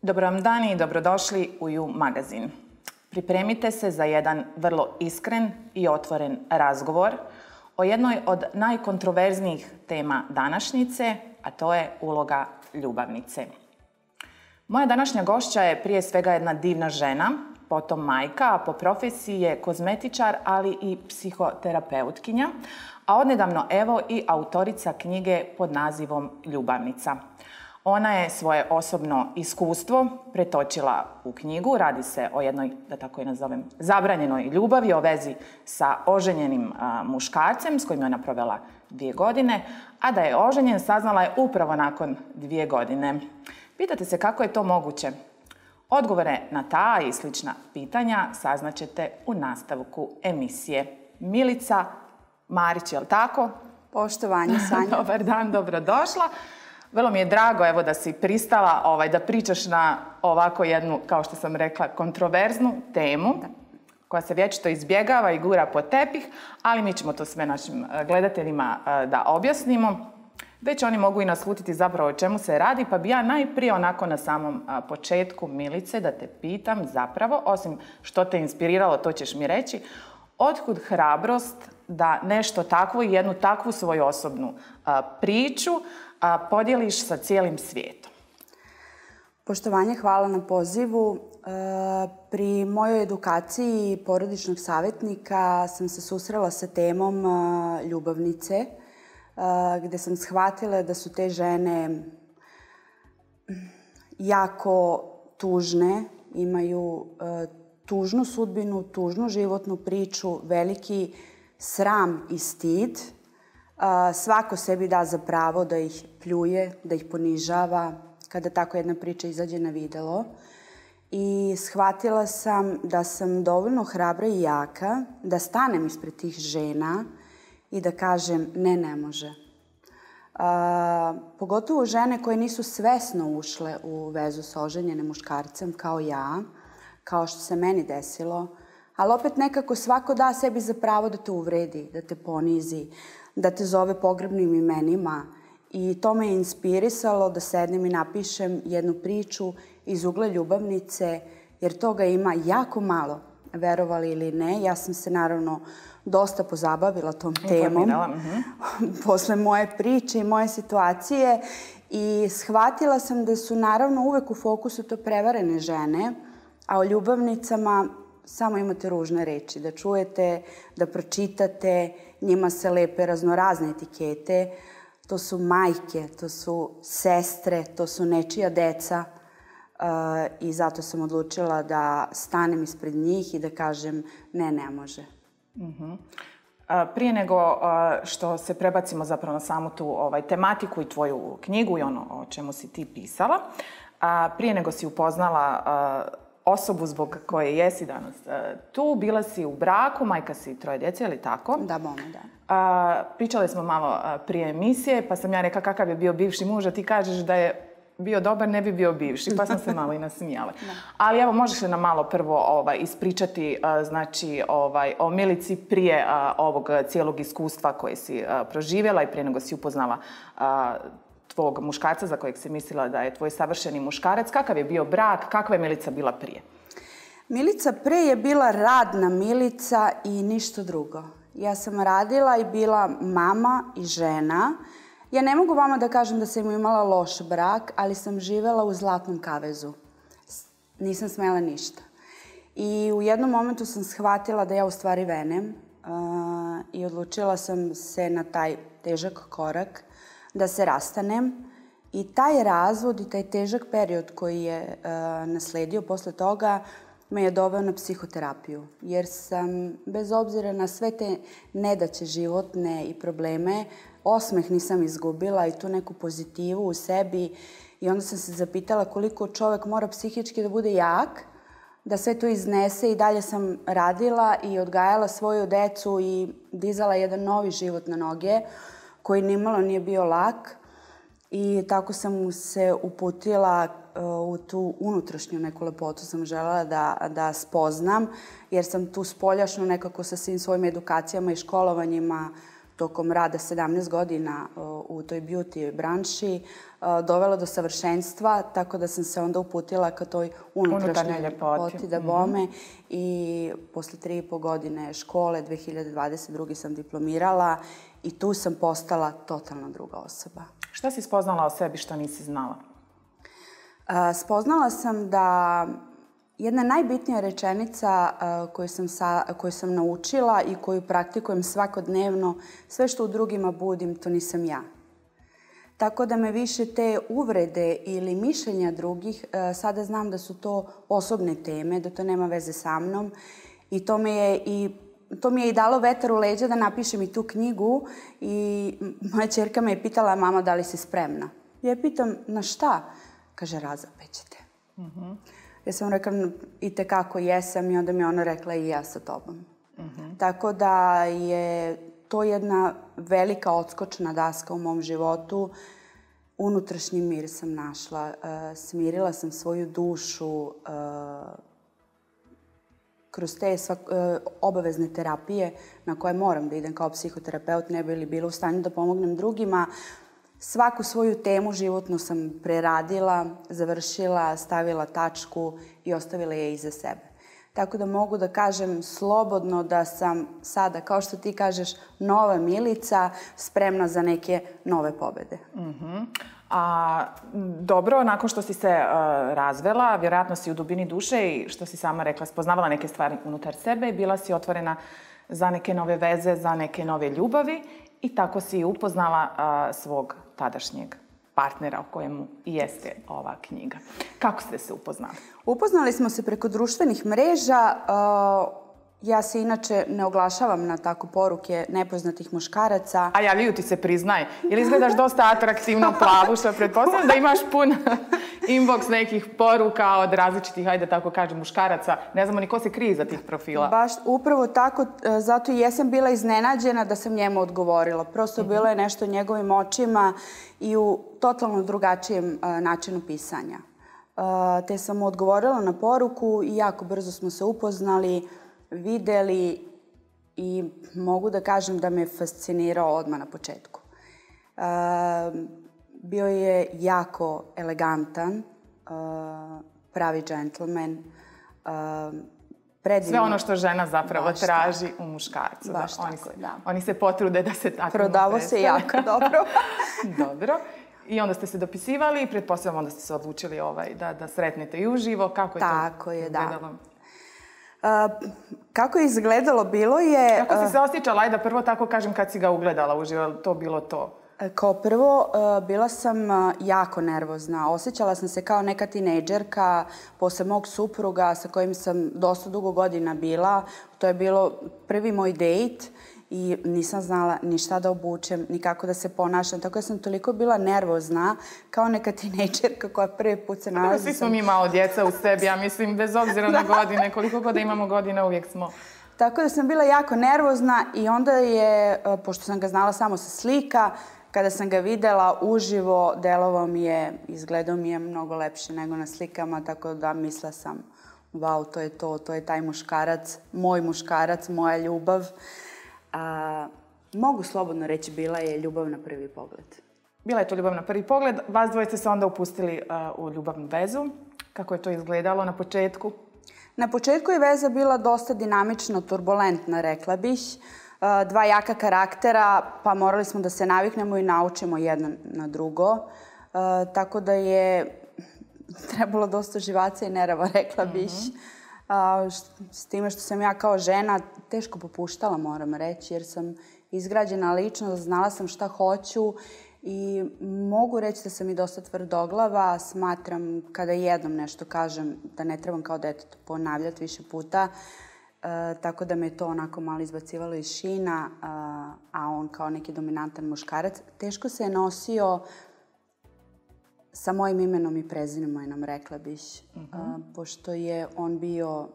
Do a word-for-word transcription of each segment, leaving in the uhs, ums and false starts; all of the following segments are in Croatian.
Dobar vam dan i dobrodošli u You magazin. Pripremite se za jedan vrlo iskren i otvoren razgovor o jednoj od najkontroverznijih tema današnjice, a to je uloga ljubavnice. Moja današnja gošća je prije svega jedna divna žena, potom majka, a po profesiji je kozmetičar, ali i psihoterapeutkinja, a odnedavno evo i autorica knjige pod nazivom Ljubavnica. Ona je svoje osobno iskustvo pretočila u knjigu. Radi se o jednoj, da tako je nazovem, zabranjenoj ljubavi, o vezi sa oženjenim a, muškarcem s kojim je ona provela dvije godine, a da je oženjen saznala je upravo nakon dvije godine. Pitate se kako je to moguće? Odgovore na ta i slična pitanja saznaćete u nastavku emisije. Milica Marić, je li tako? Poštovanje, Sanja. Dobar dan, dobrodošla. Vrlo mi je drago evo, da si pristala ovaj, da pričaš na ovako jednu, kao što sam rekla, kontroverznu temu da. koja se vječito izbjegava i gura pod tepih, ali mi ćemo to sve našim gledateljima da objasnimo. Već oni mogu i naslutiti zapravo o čemu se radi, pa bi ja najprije onako na samom početku, Milice, da te pitam zapravo, osim što te inspiriralo, to ćeš mi reći, otkud hrabrost da nešto takvo i jednu takvu svoju osobnu a, priču a, podijeliš sa cijelim svijetom? Poštovanje, hvala na pozivu. E, pri mojoj edukaciji porodičnog savjetnika sam se susrela sa temom a, ljubavnice, a, gdje sam shvatila da su te žene jako tužne, imaju a, tužnu sudbinu, tužnu životnu priču, veliki sram i stid. Svako sebi da za pravo da ih pljuje, da ih ponižava, kada tako jedna priča izađe na videlo. I shvatila sam da sam dovoljno hrabra i jaka da stanem ispred tih žena i da kažem ne, ne može. A, pogotovo žene koje nisu svesno ušle u vezu sa oženjenim muškarcem kao ja, kao što se meni desilo, ali opet nekako svako da sebi za pravo da te uvredi, da te ponizi, da te zove pogrebnim imenima. I to me je inspirisalo da sednem i napišem jednu priču iz ugla ljubavnice, jer toga ima jako malo, verovali ili ne. Ja sam se naravno dosta pozabavila tom temom posle moje priče i moje situacije i shvatila sam da su naravno uvek u fokusu to prevarene žene, a o ljubavnicama samo imate ružne reči, da čujete, da pročitate, njima se lepe raznorazne etikete. To su majke, to su sestre, to su nečija deca uh, i zato sam odlučila da stanem ispred njih i da kažem ne, ne može. Uh-huh. A, prije nego a, što se prebacimo zapravo na samu tu ovaj, tematiku i tvoju knjigu i ono o čemu si ti pisala, a, prije nego si upoznala a, osobu zbog koje jesi danas tu, bila si u braku, majka si troje djece, je li tako? Da, bome, da. A, pričali smo malo prije emisije, pa sam ja rekla kakav je bio bivši muž, a ti kažeš da je bio dobar, ne bi bio bivši, pa sam se malo i nasmijala. Ali evo, možeš li nam malo prvo ovaj, ispričati a, znači, ovaj, o Milici prije a, ovog cijelog iskustva koje si a, proživjela i prije nego si upoznala a, tvog muškarca za kojeg si mislila da je tvoj savršeni muškarac. Kakav je bio brak? Kakva je Milica bila prije? Milica pre je bila radna Milica i ništa drugo. Ja sam radila i bila mama i žena. Ja ne mogu vama da kažem da sam imala loš brak, ali sam živela u zlatnom kavezu. Nisam smela ništa. I u jednom momentu sam shvatila da ja u stvari venem uh, i odlučila sam se na taj težak korak da se rastanem. I taj razvod i taj težak period koji je uh, nasledio posle toga me je doveo na psihoterapiju. Jer sam, bez obzira na sve te nedaće životne i probleme, osmeh nisam izgubila i tu neku pozitivu u sebi. I onda sam se zapitala koliko čovjek mora psihički da bude jak, da sve to iznese. I dalje sam radila i odgajala svoju decu i dizala jedan novi život na noge, koji nimalo nije bio lak. I tako sam se uputila u tu unutrašnju neku lepotu, sam želela da, da spoznam, jer sam tu spoljašno nekako sa svim svojim edukacijama i školovanjima tokom rada sedamnaest godina u toj beauty branši dovelo do savršenstva, tako da sam se onda uputila ka toj unutrašnjoj ljepoti da bome. Mm-hmm. I posle tri i po godine škole, dve hiljade dvadeset druge sam diplomirala i tu sam postala totalno druga osoba. Šta si spoznala o sebi što nisi znala? A, spoznala sam da jedna najbitnija rečenica uh, koju, sam sa, koju sam naučila i koju praktikujem svakodnevno, sve što u drugima budim, to nisam ja. Tako da me više te uvrede ili mišljenja drugih, uh, sada znam da su to osobne teme, da to nema veze sa mnom i to me je i To mi je i dalo vetar u leđa da napišem i tu knjigu i moja ćerka me je pitala, mama, da li si spremna? Ja je pitam, na šta? Kaže, razapećete. Mm-hmm. Ja sam rekla, i tekako jesam i onda mi je ona rekla i ja sa tobom. Mm-hmm. Tako da je to jedna velika odskočna daska u mom životu. Unutrašnji mir sam našla. Uh, smirila sam svoju dušu uh, kroz te svak, uh, obavezne terapije na koje moram da idem kao psihoterapeut, ne bi li bila u stanju da pomognem drugima. Svaku svoju temu životnu sam preradila, završila, stavila tačku i ostavila je iza sebe. Tako da mogu da kažem slobodno da sam sada, kao što ti kažeš, nova Milica, spremna za neke nove pobede. Mm-hmm. A, dobro, nakon što si se uh, razvela, vjerojatno si u dubini duše i što si sama rekla, spoznavala neke stvari unutar sebe i bila si otvorena za neke nove veze, za neke nove ljubavi i tako si upoznala uh, svog tadašnjeg partnera o kojemu i jeste ova knjiga. Kako ste se upoznali? Upoznali smo se preko društvenih mreža. Uh, ja se inače ne oglašavam na tako poruke nepoznatih muškaraca. A javljaju ti se, priznaj. Ili izgledaš dosta atraktivno plavu, što pretpostavljam da imaš pun inbox nekih poruka od različitih, hajde tako kažem, muškaraca. Ne znamo ni ko se krije iza tih profila. Baš upravo tako, zato i jesam bila iznenađena da sam njemu odgovorila. Prosto mm-hmm. bilo je nešto u njegovim očima i u totalno drugačijem uh, načinu pisanja. Uh, te sam mu odgovorila na poruku i jako brzo smo se upoznali, videli i mogu da kažem da me fascinirao odmah na početku. Uh, bio je jako elegantan, uh, pravi džentlmen, uh, predivno. Sve ono što žena zapravo Baš traži tako. U muškarcu. Baš da, tako, oni se, da. Oni se potrude da se tako Prodavo se jako dobro. Dobro. I onda ste se dopisivali i pretpostavljam onda ste se odlučili ovaj, da, da sretnete i uživo. Kako je tako to je, izgledalo? Da. Uh, kako je izgledalo, bilo je... Kako si se osjećala, ajde da prvo tako kažem kad si ga ugledala uživo, je li to bilo to? Kao prvo, uh, bila sam uh, jako nervozna. Osjećala sam se kao neka tinejdžerka posle mog supruga sa kojim sam dosta dugo godina bila. To je bilo prvi moj dejt i nisam znala ni šta da obučem, ni kako da se ponašam. Tako da sam toliko bila nervozna kao neka tinejdžerka koja prvi put se nalazi. Svi smo mi malo djeca u sebi, ja mislim, bez obzira na godine, koliko god da imamo godina, uvijek smo. Tako da sam bila jako nervozna i onda je, pošto sam ga znala samo sa slika, kada sam ga videla uživo, delovao mi je, izgledao mi je mnogo lepše nego na slikama, tako da mislila sam, wow, to je to, to je taj muškarac, moj muškarac, moja ljubav. A, mogu slobodno reći, bila je ljubav na prvi pogled. Bila je to ljubav na prvi pogled. Vas dvoje ste se onda upustili uh, u ljubavnu vezu. Kako je to izgledalo na početku? Na početku je veza bila dosta dinamična, turbulentna, rekla bih. Uh, dva jaka karaktera, pa morali smo da se naviknemo i naučimo jedno na drugo. Uh, tako da je trebalo dosta živaca i nerava, rekla bih. Mm-hmm. Uh, s time što sam ja kao žena teško popuštala, moram reći, jer sam izgrađena ličnost, znala sam šta hoću i mogu reći da sam i dosta tvrdoglava. Smatram kada jednom nešto kažem da ne trebam kao dete ponavljati više puta, uh, tako da me to onako malo izbacivalo iz šina, uh, a on kao neki dominantan muškarac teško se je nosio sa mojim imenom i prezimenom, rekla bih, uh-huh. uh, pošto je on bio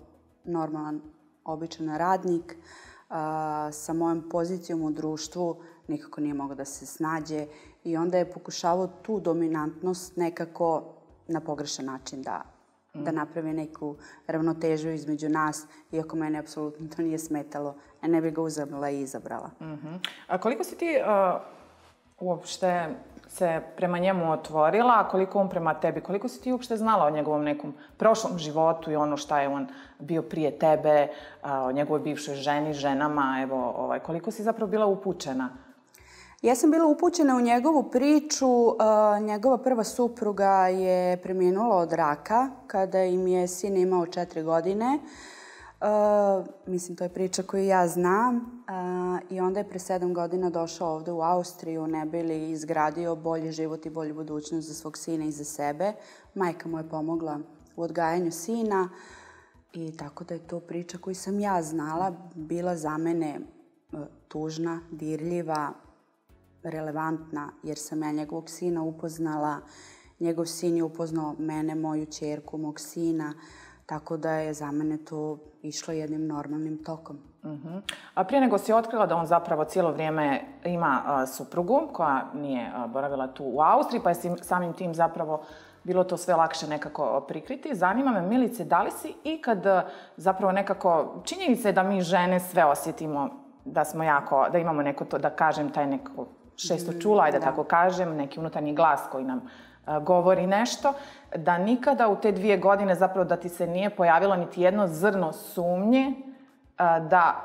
normalan, običan radnik, uh, sa mojom pozicijom u društvu nikako nije mogao da se snađe i onda je pokušavao tu dominantnost nekako na pogrešan način da, uh-huh. da napravi neku ravnotežu između nas, iako mene apsolutno to nije smetalo, a ne bi ga uzela i izabrala. Uh-huh. A koliko si ti... Uh... uopšte se prema njemu otvorila, a koliko on prema tebi? Koliko si ti uopšte znala o njegovom nekom prošlom životu i ono šta je on bio prije tebe, o njegovoj bivšoj ženi, ženama, evo, ovaj, koliko si zapravo bila upućena? Ja sam bila upućena u njegovu priču. Njegova prva supruga je preminula od raka kada im je sin imao četiri godine. Uh, mislim, to je priča koju ja znam. Uh, I onda je pre sedam godina došao ovde u Austriju, ne bi li izgradio bolji život i bolju budućnost za svog sina i za sebe. Majka mu je pomogla u odgajanju sina i tako da je to priča koju sam ja znala, bila za mene uh, tužna, dirljiva, relevantna, jer sam ja njegovog sina upoznala. Njegov sin je upoznao mene, moju ćerku, mog sina. Tako da je za mene to išlo jednim normalnim tokom. Uh-huh. A prije nego si otkrila da on zapravo cijelo vrijeme ima uh, suprugu koja nije uh, boravila tu u Austriji, pa je samim tim zapravo bilo to sve lakše nekako prikriti. Zanima me, Milice, da li si ikad uh, zapravo nekako, činjenica je da mi žene sve osjetimo, da smo jako, da imamo neko to, da kažem, taj neko šesto čula, ajde da tako kažem, neki unutarnji glas koji nam govori nešto, da nikada u te dvije godine zapravo da ti se nije pojavilo niti jedno zrno sumnje da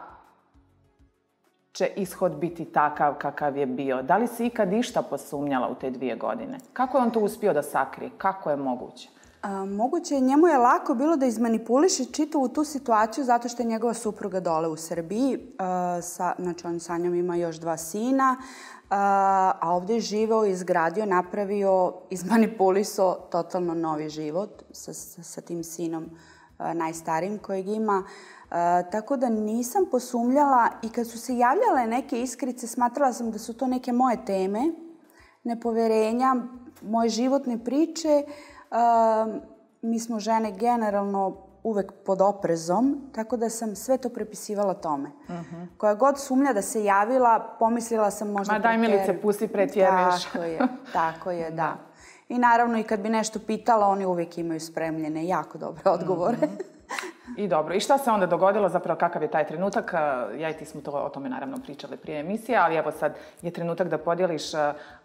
će ishod biti takav kakav je bio. Da li si ikad išta posumnjala u te dvije godine? Kako je on to uspio da sakrije? Kako je moguće? A, moguće, njemu je lako bilo da izmanipuliše čitavu tu situaciju zato što je njegova supruga dole u Srbiji. A, sa, znači, on sa njom ima još dva sina. A, a ovdje je živeo, izgradio, napravio, izmanipulisao totalno novi život sa, sa, sa tim sinom a, najstarijim kojeg ima. A, tako da nisam posumljala i kad su se javljale neke iskrice, smatrala sam da su to neke moje teme, nepoverenja, moje životne priče. A, mi smo žene generalno uvek pod oprezom, tako da sam sve to prepisivala tome. Uh-huh. Koja god sumnja da se javila, pomislila sam možda... Ma daj, Milice, pusti, pretjeruješ. Tako je, tako je, da. da. I naravno, i kad bi nešto pitala, oni uvijek imaju spremljene jako dobre odgovore. Uh-huh. I dobro. I šta se onda dogodilo, zapravo kakav je taj trenutak? Ja i ti smo to, o tome naravno pričali prije emisije, ali evo sad je trenutak da podijeliš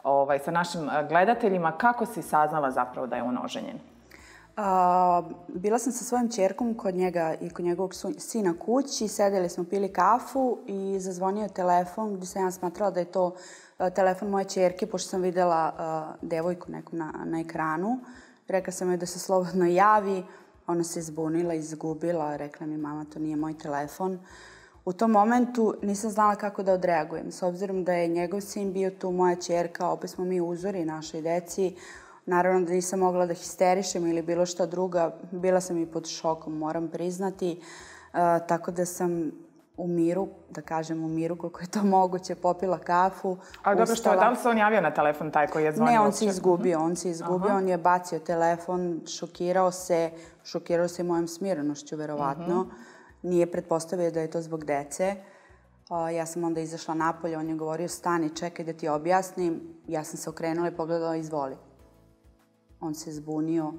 ovaj, sa našim gledateljima kako si saznala zapravo da je on oženjen. Uh, bila sam sa svojom ćerkom kod njega i kod njegovog sina kući, sedeli smo, pili kafu i zazvonio telefon gdje sam ja smatrala da je to uh, telefon moje ćerke, pošto sam vidjela uh, devojku neku na, na ekranu. Rekla sam joj da se slobodno javi, ona se izbunila, izgubila, rekla mi mama to nije moj telefon. U tom momentu nisam znala kako da odreagujem, s obzirom da je njegov sin bio tu, moja ćerka, opet smo mi uzori našoj deci. Naravno da nisam mogla da histerišem ili bilo šta druga. Bila sam i pod šokom, moram priznati. Uh, tako da sam u miru, da kažem u miru koliko je to moguće, popila kafu. Ali dobro, što, da li se on javio na telefon taj koji je zvonio? Ne, on se izgubio, on se izgubio, Aha. on je bacio telefon, šokirao se, šokirao se mojom smirenošću, verovatno. Uh-huh. Nije pretpostavio da je to zbog dece. Uh, ja sam onda izašla napolje, on je govorio stani, čekaj da ti objasnim. Ja sam se okrenula i pogledala, izvoli. On se zbunio,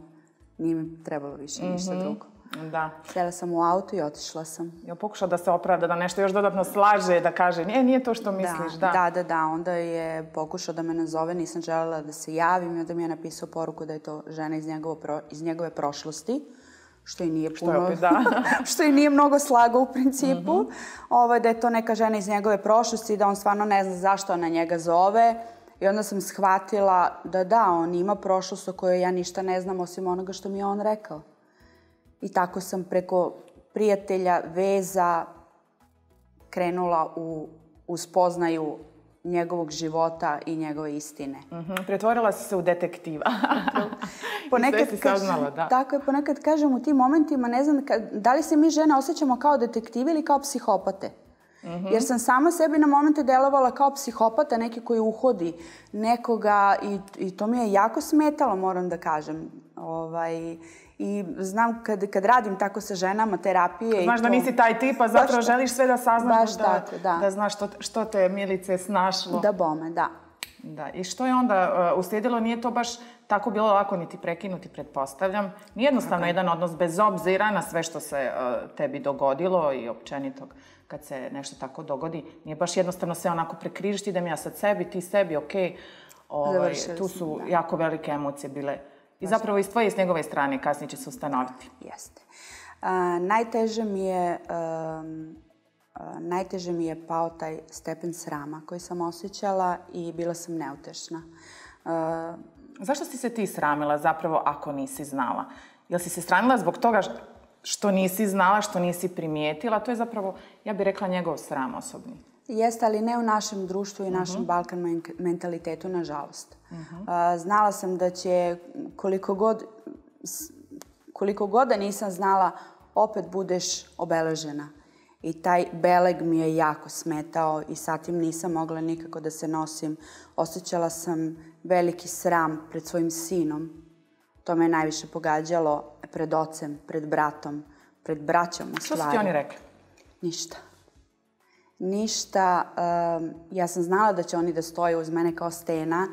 nije mi trebalo više mm-hmm. ništa drugo. Da. Sjela sam u auto i otišla sam. Je pokušao da se opravda, da nešto još dodatno slaže, da kaže, nije, nije to što misliš, da. Da, da, da. Onda je pokušao da me nazove, nisam želela da se javim i onda mi je napisao poruku da je to žena iz, njegovo pro, iz njegove prošlosti, što i nije puno, što, je opet, da. što i nije mnogo slago u principu. Mm-hmm. Ovo, da je to neka žena iz njegove prošlosti, da on stvarno ne zna zašto ona njega zove. I onda sam shvatila da da, on ima prošlost o kojoj ja ništa ne znam osim onoga što mi je on rekao. I tako sam preko prijatelja, veza krenula u, u spoznaju njegovog života i njegove istine. Mm-hmm. Pretvorila si se u detektiva. ponekad si saznala, da. Tako je, ponekad kažem u tim momentima, ne znam, da li se mi žene osjećamo kao detektivi ili kao psihopate. Mm-hmm. Jer sam sama sebi na momente delovala kao psihopata, neki koji uhodi nekoga i, i to mi je jako smetalo, moram da kažem. Ovaj, I znam kad, kad radim tako sa ženama terapije... Znaš i to, da nisi taj tip, a zapravo baš želiš sve da saznaš, baš da, tako, da. da znaš što, što te, Milice, snašlo. Da bome, da. Da, i što je onda uh, uslijedilo? Nije to baš tako bilo lako niti prekinuti, pretpostavljam. Nije jednostavno okay. jedan odnos bez obzira na sve što se uh, tebi dogodilo i općenito kad se nešto tako dogodi. Nije baš jednostavno sve onako prekrižiti, idem ja sad sebi, ti sebi, ok. Ovaj, tu su da. jako velike emocije bile. I zapravo iz tvoje i s njegove strane kasnije će se ustanoviti. Jeste. Uh, najteže mi je... Um, Uh, najteže mi je pao taj stepen srama koji sam osjećala i bila sam neutešna. Uh, Zašto si se ti sramila zapravo ako nisi znala? Jel si se sramila zbog toga što nisi znala, što nisi primijetila? To je zapravo, ja bih rekla, njegov sram osobni. Jeste, ali ne u našem društvu i uh-huh. našem Balkan mentalitetu, nažalost. Uh-huh. Uh, znala sam da će, koliko god, koliko god da nisam znala, opet budeš obeležena. I taj beleg mi je jako smetao i sa tim nisam mogla nikako da se nosim. Osjećala sam veliki sram pred svojim sinom. To me je najviše pogađalo pred ocem, pred bratom, pred braćom u stvari. Što su ti oni rekli? Ništa. Ništa. Um, ja sam znala da će oni da stoje uz mene kao stena,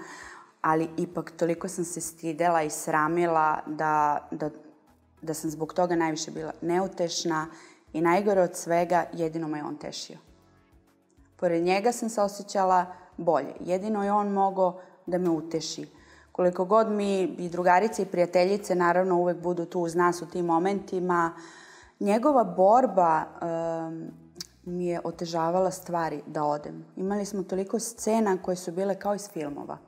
ali ipak toliko sam se stidela i sramila da, da, da sam zbog toga najviše bila neutešna. I najgore od svega, jedino me on tešio. Pored njega sam se osjećala bolje. Jedino je on mogao da me uteši. Koliko god mi i drugarice i prijateljice naravno uvek budu tu uz nas u tim momentima, njegova borba um, mi je otežavala stvari da odem. Imali smo toliko scena koje su bile kao iz filmova.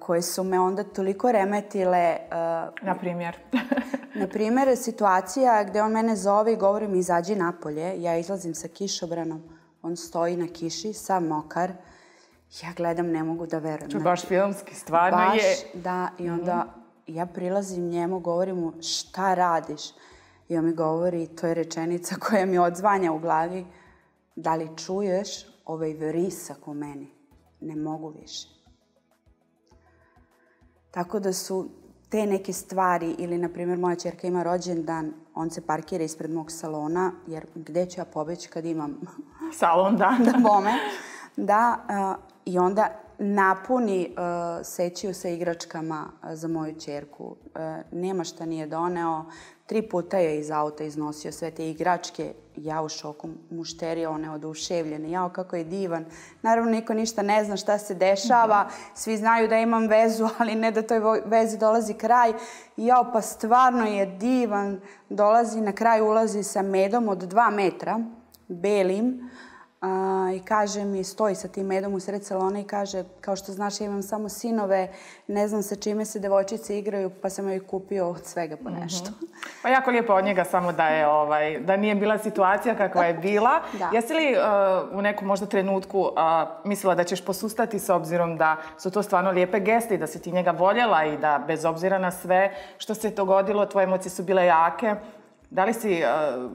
Koje su me onda toliko remetile. Uh, Na primjer? Na primjer, situacija gdje on mene zove i govori mi izađi napolje. Ja izlazim sa kišobranom. On stoji na kiši, sav mokar. Ja gledam, ne mogu da verujem. To je baš filmski, stvarno baš, je. Da, i onda mm-hmm. ja prilazim njemu, govorim mu šta radiš? I on mi govori, to je rečenica koja mi odzvanja u glavi. Da li čuješ ovaj vrisak u meni? Ne mogu više. Tako da su te neke stvari, ili na primjer moja ćerka ima rođendan, on se parkira ispred mog salona, jer gde ću ja pobeći kad imam salon, da. da bome. Da, uh, i onda napuni uh, sećiju sa igračkama uh, za moju ćerku. Uh, nema šta nije doneo. Tri puta je iz auta iznosio sve te igračke. Ja u šoku, mušterija, one oduševljene. Jao, kako je divan. Naravno, niko ništa ne zna šta se dešava. Svi znaju da imam vezu, ali ne da toj vezi dolazi kraj. Jao, pa stvarno je divan. Dolazi, na kraj ulazi sa medom od dva metra, belim. Uh, i kaže mi, stoji sa tim medom u sred salona i kaže, kao što znaš, ja imam samo sinove, ne znam sa čime se devojčice igraju, pa sam joj kupio od svega po nešto. Mm-hmm. Pa jako lijepo od njega, samo da je, ovaj, da nije bila situacija kakva je bila. Da. Jesi li uh, u nekom možda trenutku uh, mislila da ćeš posustati s obzirom da su to stvarno lijepe geste i da si ti njega voljela i da bez obzira na sve što se dogodilo, tvoje emocije su bile jake. Da li si uh,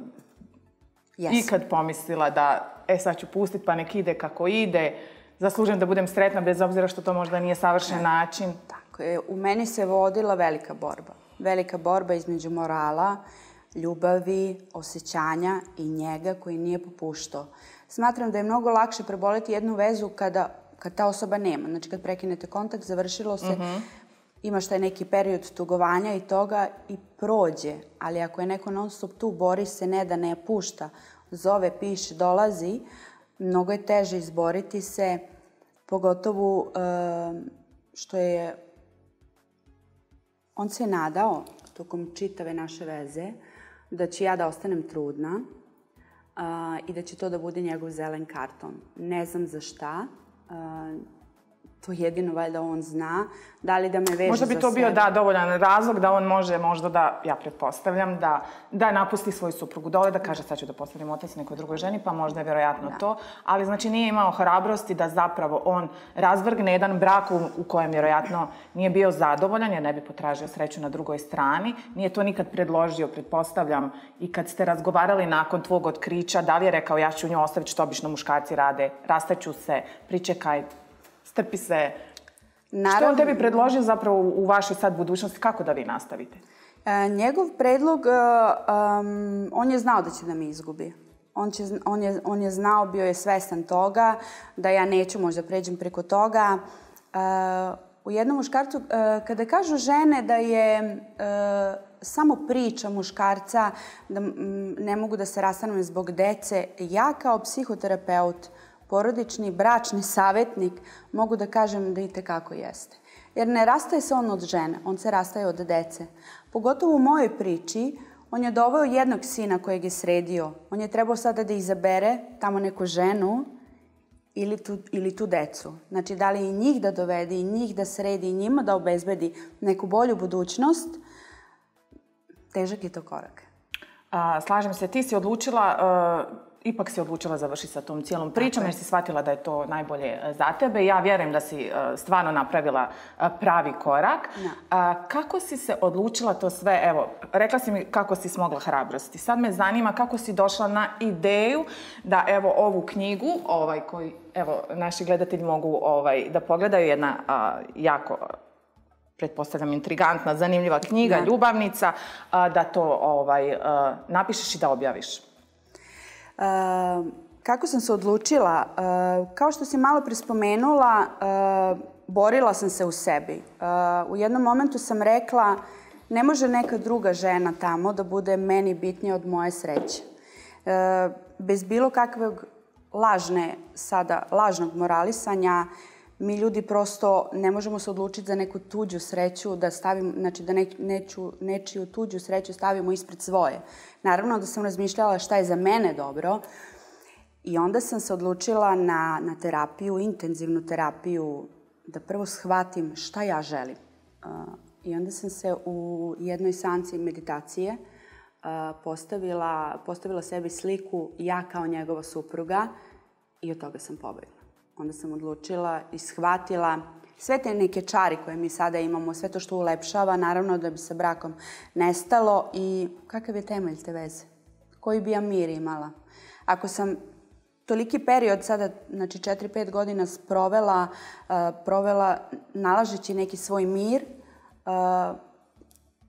yes. ikad pomislila da e sad ću pustiti pa nek ide kako ide, zaslužujem da budem sretna bez obzira što to možda nije savršen način? Tako je. U meni se vodila velika borba. Velika borba između morala, ljubavi, osjećanja i njega koji nije popuštao. Smatram da je mnogo lakše preboleti jednu vezu kada, kad ta osoba nema. Znači kad prekinete kontakt, završilo se, mm-hmm. imaš taj neki period tugovanja i toga i prođe. Ali ako je neko non stop tu, bori se, ne da ne pušta, zove, piše, dolazi, mnogo je teže izboriti se, pogotovo uh, što je... On se je nadao, tokom čitave naše veze, da ću ja da ostanem trudna uh, i da će to da bude njegov zelen karton. Ne znam za šta. Uh, To jedino valjda on zna. Da li da me veže za sebe. Možda bi to bio da, dovoljan razlog da on može možda da, ja pretpostavljam, da, da napusti svoju suprugu dole, da kaže sad ću da postavim otac nekoj drugoj ženi, pa možda je vjerojatno da. to. Ali znači nije imao hrabrosti da zapravo on razvrgne jedan brak u, u kojem vjerojatno nije bio zadovoljan, jer ne bi potražio sreću na drugoj strani. Nije to nikad predložio, pretpostavljam, i kad ste razgovarali nakon tvog otkrića, da li je rekao ja ću nju ostaviti što obično muškarci rade, rastaću se, pričekaj, strpi se. Naravno, što on tebi predložio zapravo u vašoj sad budućnosti? Kako da vi nastavite? E, njegov predlog, um, on je znao da će da me izgubi. On, će, on, je, on je znao, bio je svestan toga, da ja neću možda pređem preko toga. U jednom muškarcu, kada kažu žene da je samo priča muškarca, da ne mogu da se rastanem zbog dece, ja kao psihoterapeut, porodični, bračni savjetnik, mogu da kažem da i tekako jeste. Jer ne rastaje se on od žene, on se rastaje od dece. Pogotovo u mojoj priči, on je doveo jednog sina kojeg je sredio. On je trebao sada da izabere tamo neku ženu ili tu, ili tu decu. Znači, da li i njih da dovede, i njih da sredi, i njima da obezbedi neku bolju budućnost, težak je to korak. A, slažem se, ti si odlučila... Uh... Ipak si odlučila završiti sa tom cijelom pričom jer si shvatila da je to najbolje za tebe. Ja vjerujem da si stvarno napravila pravi korak. Ja. Kako si se odlučila to sve? Evo, rekla si mi kako si smogla hrabrosti. Sad me zanima kako si došla na ideju da evo ovu knjigu, ovaj, koji evo, naši gledatelji mogu ovaj, da pogledaju, jedna a, jako... pretpostavljam, intrigantna, zanimljiva knjiga, ja. Ljubavnica, a, da to ovaj, a, napišeš i da objaviš. Uh, kako sam se odlučila? Uh, kao što si malo prespomenula, uh, borila sam se u sebi. Uh, u jednom momentu sam rekla, ne može neka druga žena tamo da bude meni bitnija od moje sreće. Uh, bez bilo kakvog lažne, sada, lažnog moralisanja, mi ljudi prosto ne možemo se odlučiti za neku tuđu sreću, da stavimo, znači da ne, neću, nečiju tuđu sreću stavimo ispred svoje. Naravno da sam razmišljala šta je za mene dobro i onda sam se odlučila na, na terapiju, intenzivnu terapiju, da prvo shvatim šta ja želim. Uh, I onda sam se u jednoj seansi meditacije uh, postavila, postavila sebi sliku ja kao njegova supruga i od toga sam pobegla. Onda sam odlučila i shvatila sve te neke čari koje mi sada imamo, sve to što ulepšava, naravno da bi se brakom nestalo i kakav je temelj te veze? Koji bi ja mir imala? Ako sam toliki period sada, znači četiri pet godina provela, uh, provela nalažeći neki svoj mir, uh,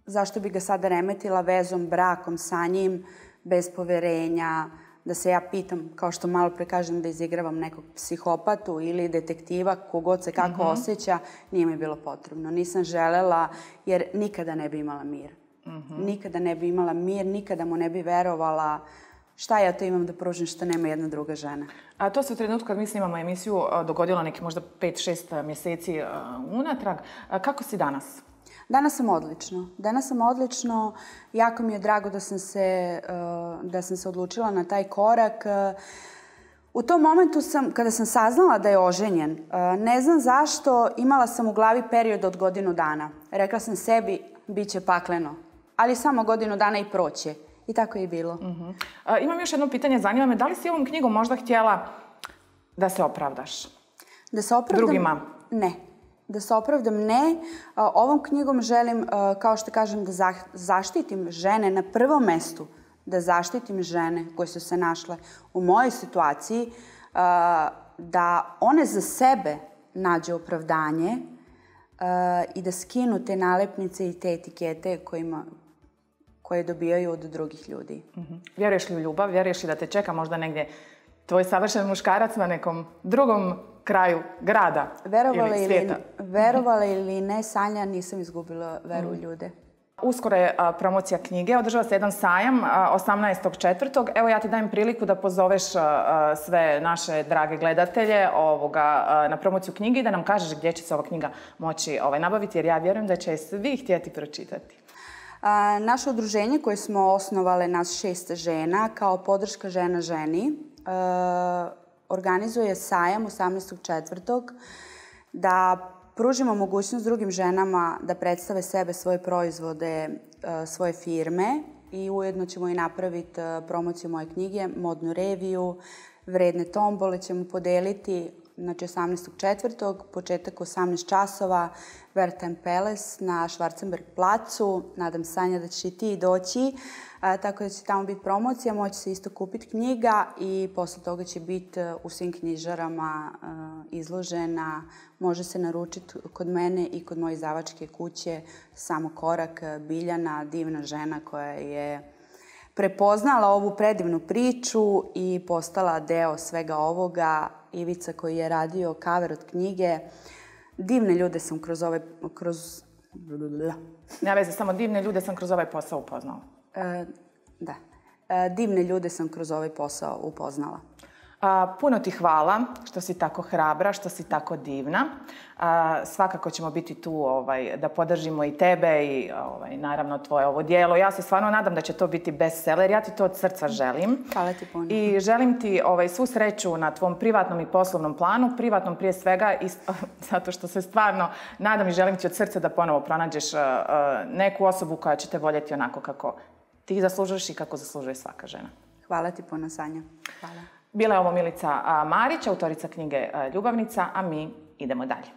zašto bi ga sada remetila vezom, brakom sa njim, bez poverenja, da se ja pitam, kao što malo pre kažem, da izigravam nekog psihopatu ili detektiva, kogod se kako mm-hmm. osjeća, nije mi bilo potrebno. Nisam želela, jer nikada ne bi imala mir. Mm-hmm. Nikada ne bi imala mir, nikada mu ne bi verovala šta ja to imam da pružim što nema jedna druga žena. A to se u trenutku kad mi snimamo emisiju dogodilo neki možda pet šest mjeseci unatrag. Kako si danas? Danas sam odlično. Danas sam odlično. Jako mi je drago da sam se, da sam se odlučila na taj korak. U tom momentu sam, kada sam saznala da je oženjen, ne znam zašto, imala sam u glavi period od godinu dana. Rekla sam sebi, bit će pakleno, ali samo godinu dana i proće. I tako je i bilo. Uh-huh. A, imam još jedno pitanje, zanima me, da li si ovom knjigom možda htjela da se opravdaš? Da se opravdam? Drugima? Ne. Da se opravdam, ne. Ovom knjigom želim, kao što kažem, da zaštitim žene na prvom mestu. Da zaštitim žene koje su se našle u mojoj situaciji, da one za sebe nađe opravdanje i da skinu te nalepnice i te etikete kojima, koje dobijaju od drugih ljudi. Uh-huh. Vjeruješ li u ljubav? Vjeruješ li da te čeka možda negdje tvoj savršen muškarac na nekom drugom kraju grada verovala ili svijeta? Ili, verovala ili ne, Sanja, nisam izgubila veru u mm. ljude. Uskoro je a, promocija knjige, održava se jedan sajam osamnaestog četvrtog Evo ja ti dajem priliku da pozoveš a, sve naše drage gledatelje ovoga, a, na promociju knjige i da nam kažeš gdje će se ova knjiga moći ovaj, nabaviti, jer ja vjerujem da će svi htjeti pročitati. A, naše udruženje koje smo osnovale, nas šest žena, kao podrška žena ženi, a, organizuje sajam osamnaestog četvrtog da pružimo mogućnost drugim ženama da predstave sebe, svoje proizvode, svoje firme i ujedno ćemo i napraviti promociju moje knjige, modnu reviju, vredne tombole ćemo podeliti, znači osamnaestog četvrtog početak osamnaest časova, Wertheim Palace na Schwarzenberg placu. Nadam Sanja da ćeš i ti doći, a, tako da će tamo biti promocija, moći se isto kupiti knjiga i posle toga će biti u svim knjižarama a, izložena. Može se naručiti kod mene i kod moje izdavačke kuće Samo korak, Biljana, divna žena koja je prepoznala ovu predivnu priču i postala deo svega ovoga. Ivica koji je radio cover od knjige, Divne ljude sam kroz ovaj... Kroz... Nema veze, samo divne ljude sam kroz ovaj posao upoznala. E, da. E, divne ljude sam kroz ovaj posao upoznala. A, puno ti hvala što si tako hrabra, što si tako divna. A, svakako ćemo biti tu ovaj, da podržimo i tebe i ovaj, naravno tvoje ovo djelo. Ja se stvarno nadam da će to biti bestseller. Ja ti to od srca želim. Hvala ti puno. I želim ti ovaj, svu sreću na tvom privatnom i poslovnom planu. Privatnom prije svega, i, zato što se stvarno nadam i želim ti od srca da ponovo pronađeš uh, neku osobu koja će te voljeti onako kako ti zaslužuješ i kako zaslužuje svaka žena. Hvala ti puno, Sanja. Hvala. Bila je ovo Milica Marić, autorica knjige Ljubavnica, a mi idemo dalje.